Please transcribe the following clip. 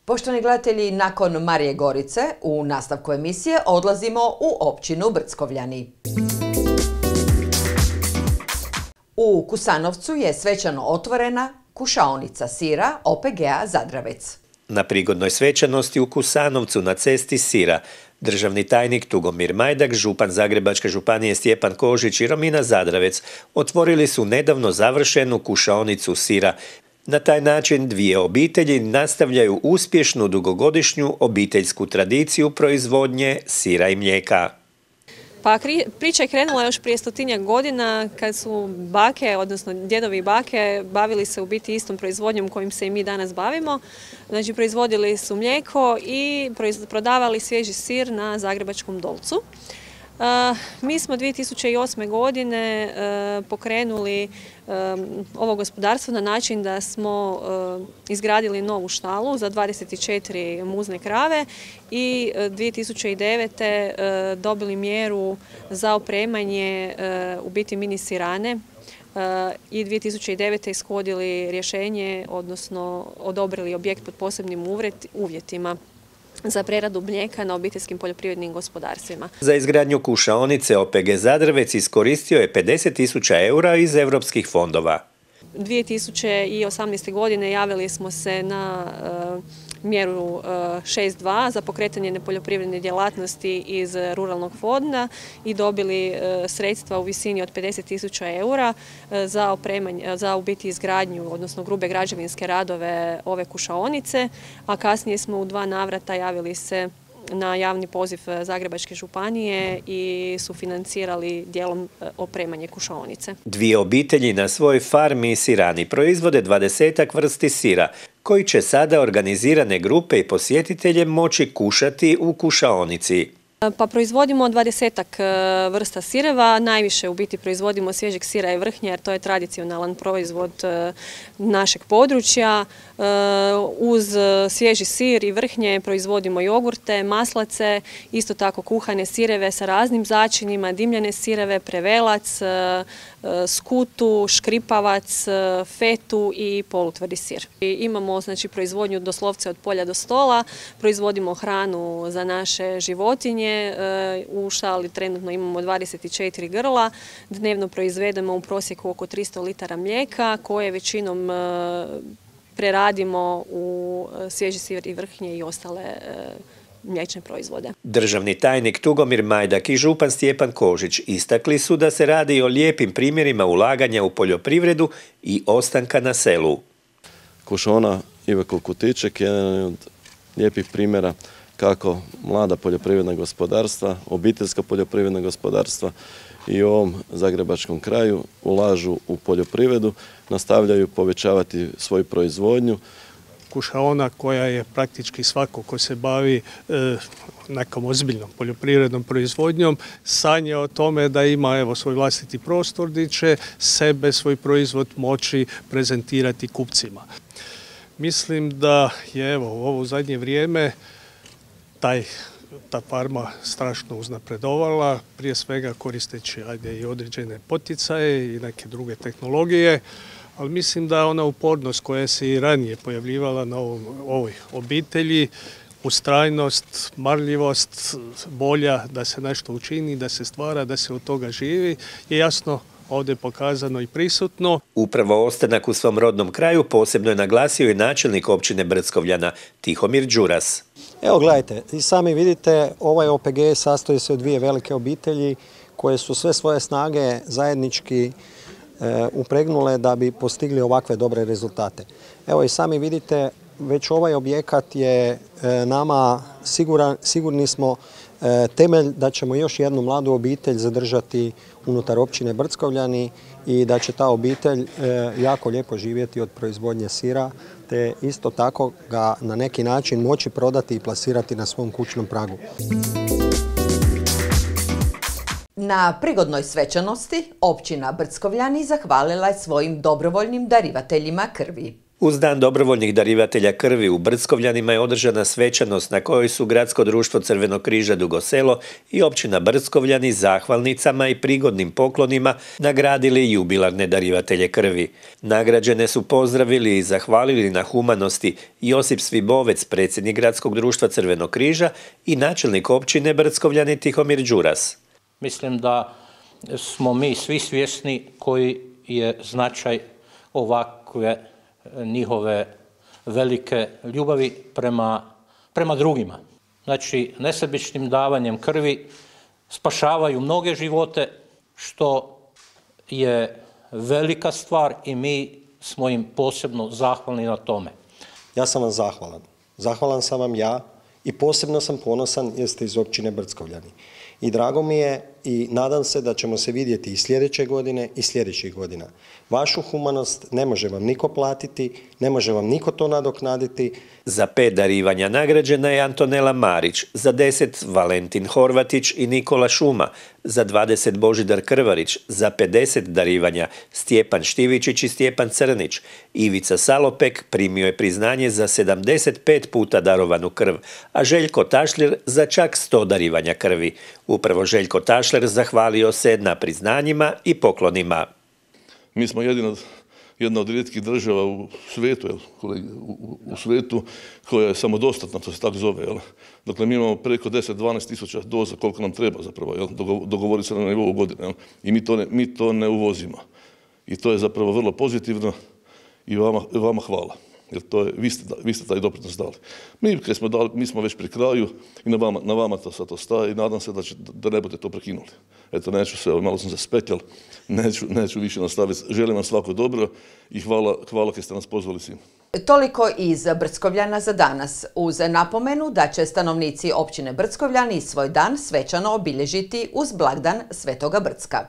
Poštovani gledatelji, nakon Marije Gorice u nastavku emisije odlazimo u općinu Brckovljani. U Kusanovcu je svečano otvorena kušaonica sira OPG-a Zadravec. Na prigodnoj svečanosti u Kusanovcu na cesti Sira državni tajnik Tugomir Majdak, župan Zagrebačke županije Stjepan Kožić i Romina Zadravec otvorili su nedavno završenu kušaonicu sira. Na taj način dvije obitelji nastavljaju uspješnu dugogodišnju obiteljsku tradiciju proizvodnje sira i mlijeka. Pa priča je krenula još prije 100-tinjak godina kad su bake, odnosno djedovi i bake, bavili se u biti istom proizvodnjom kojim se i mi danas bavimo. Znači proizvodili su mlijeko i prodavali svježi sir na Zagrebačkom Dolcu. Mi smo 2008. godine pokrenuli ovo gospodarstvo na način da smo izgradili novu štalu za 24 muzne krave i 2009. dobili mjeru za opremanje u biti mini sirane i 2009. ishodili rješenje, odnosno odobrili objekt pod posebnim uvjetima za preradu mlijeka na obiteljskim poljoprivrednim gospodarstvima. Za izgradnju kušaonice OPG Zadravec iskoristio je 50.000 eura iz europskih fondova. 2018. godine javili smo se na mjeru 6.2 za pokretanje nepoljoprivredne djelatnosti iz ruralnog fonda i dobili sredstva u visini od 50.000 eura za u biti izgradnju, odnosno grube građevinske radove ove kušaonice, a kasnije smo u 2 navrata javili se na javni poziv Zagrebačke županije i sufinancirali dijelom opremanje kušaonice. Dvije obitelji na svojoj farmi sirani proizvode 20 vrsti sira, koji će sada organizirane grupe i posjetitelje moći kušati u kušaonici. Pa proizvodimo 20 vrsta sireva, najviše u biti proizvodimo svježeg sira i vrhnja jer to je tradicionalan proizvod našeg područja. Uz svježi sir i vrhnje proizvodimo jogurte, maslace, isto tako kuhane sireve sa raznim začinima, dimljene sireve, prevelac, skutu, škripavac, fetu i polutvrdi sir. Imamo znači proizvodnju doslovce od polja do stola, proizvodimo hranu za naše životinje. U štali trenutno imamo 24 grla, dnevno proizvedemo u prosjeku oko 300 litara mlijeka koje većinom preradimo u svježi sir i vrhnje i ostale mliječne proizvode. Državni tajnik Tugomir Majdak i župan Stjepan Kožić istakli su da se radi o lijepim primjerima ulaganja u poljoprivredu i ostanka na selu. Kušaona Ive Kulkutiček je jedan od lijepih primjera kako mlada poljoprivredna gospodarstva, obiteljska poljoprivredna gospodarstva i u ovom zagrebačkom kraju ulažu u poljoprivredu, nastavljaju povećavati svoju proizvodnju. Kušaona koja je praktički svako ko se bavi nekom ozbiljnom poljoprivrednom proizvodnjom sanja o tome da ima svoj vlastiti prostor gdje će sebe, svoj proizvod moći prezentirati kupcima. Mislim da je u ovo zadnje vrijeme ta farma strašno uznapredovala, prije svega koristeći i određene poticaje i neke druge tehnologije, ali mislim da ona upornost koja se i ranije pojavljivala na ovoj obitelji, ustrajnost, marljivost, volja da se nešto učini, da se stvara, da se od toga živi, je jasno ovdje pokazano i prisutno. Upravo ostanak u svom rodnom kraju posebno je naglasio i načelnik općine Brckovljana Tihomir Đuras. Evo gledajte, i sami vidite, ovaj OPG sastoji se od dvije velike obitelji koje su sve svoje snage zajednički upregnule da bi postigli ovakve dobre rezultate. Evo i sami vidite, već ovaj objekat je nama sigurni smo temelj da ćemo još jednu mladu obitelj zadržati unutar općine Brckovljani i da će ta obitelj jako lijepo živjeti od proizvodnje sira, te isto tako ga na neki način moći prodati i plasirati na svom kućnom pragu. Na prigodnoj svečanosti općina Brckovljani zahvalila je svojim dobrovoljnim darivateljima krvi. Uz dan dobrovoljnih darivatelja krvi u Brckovljanima je održana svečanost na kojoj su Gradsko društvo Crvenog križa Dugo Selo i općina Brckovljani zahvalnicama i prigodnim poklonima nagradili jubilarne darivatelje krvi. Nagrađene su pozdravili i zahvalili na humanosti Josip Svibovec, predsjednik Gradskog društva Crvenog križa, i načelnik općine Brckovljani Tihomir Đuras. Mislim da smo mi svi svjesni koji je značaj ovakve njihove velike ljubavi prema drugima. Znači, nesebičnim davanjem krvi spašavaju mnoge živote, što je velika stvar i mi smo im posebno zahvalni na tome. Ja sam vam zahvalan. Zahvalan sam vam ja i posebno sam ponosan jer ste iz općine Brckovljani. I drago mi je i nadam se da ćemo se vidjeti i sljedeće godine i sljedećih godina. Vašu humanost ne može vam niko platiti, ne može vam niko to nadoknaditi. Za 5 darivanja nagrađena je Antonela Marić, za 10 Valentin Horvatić i Nikola Šuma, za 20 Božidar Krvarić, za 50 darivanja Stjepan Štivičić i Stjepan Crnić. Ivica Salopek primio je priznanje za 75 puta darovanu krv, a Željko Tašljer za čak 100 darivanja krvi. Upravo Željko Tašler zahvalio se na priznanjima i poklonima. Mi smo jedna od rijetkih država u svijetu, u svijetu koja je samodostatna, to se tako zove. Dakle, mi imamo preko 10-12 tisuća doza koliko nam treba zapravo, dogovori se na nivou godine. I mi to ne uvozimo. I to je zapravo vrlo pozitivno i vama hvala. Jer vi ste taj doprinos dali. Mi smo već pri kraju i na vama to sad ostaje i nadam se da ne budete to prekinuli. Eto, neću se, malo sam se spetljal, neću više nastaviti. Želim vam svako dobro i hvala kad ste nas pozvali svima. Toliko iz Brckovljana za danas, uz napomenu da će stanovnici općine Brckovljani svoj dan svečano obilježiti uz blagdan Svetoga Brcka.